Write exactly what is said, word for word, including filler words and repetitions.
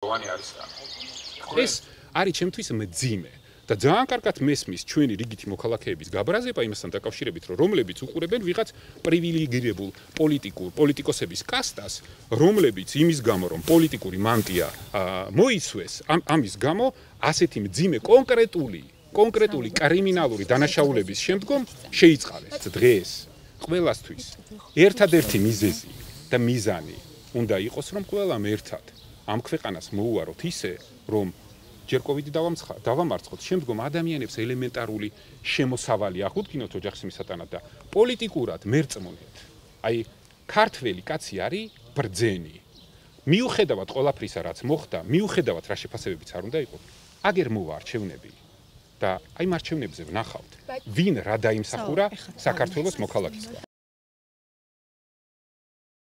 როვანი არის რა. ეს არის ჩემთვის მძიმე და ძალიან კარგად მესმის ჩვენი რიგითი მოქალაქეების გაბრაზება იმასთან დაკავშირებით, რომ რომლებიც უყურებენ ვიღაც პრივილეგირებულ პოლიტიკურ პოლიტიკოსების კასტას, რომლებიც იმის გამო რომ პოლიტიკური მანტია მოიცვეს, ამის გამო ასეთი მძიმე კონკრეტული კონკრეტული კრიმინალური დანაშაულების შემდგომ შეიწყალეს დღეს ყველასთვის ერთადერთი მიზეზი და მიზანი უნდა იყოს რომ ყველამ ერთად ამ ქვეყანას მოუაროთ ისე რომ ჯერ კოვიდი დავამარცხოთ, შემდგომ ადამიანებს ელემენტარული შემოსავალი აღუდგინოთ ოჯახის მისატანად და პოლიტიკურად მერწმუნეთ. აი, ქართველი კაცი არის ბრძენი. მიუხედავად ყველაფრისა, რაც მოხდა, მიუხედავად რა შეფასებებიც არ უნდა იყოს, აგერ მოვა არჩევნები და აი მარჩევნებზე ვნახავთ, ვინ რა დაიმსახურა საქართველოს მოქალაქისგან.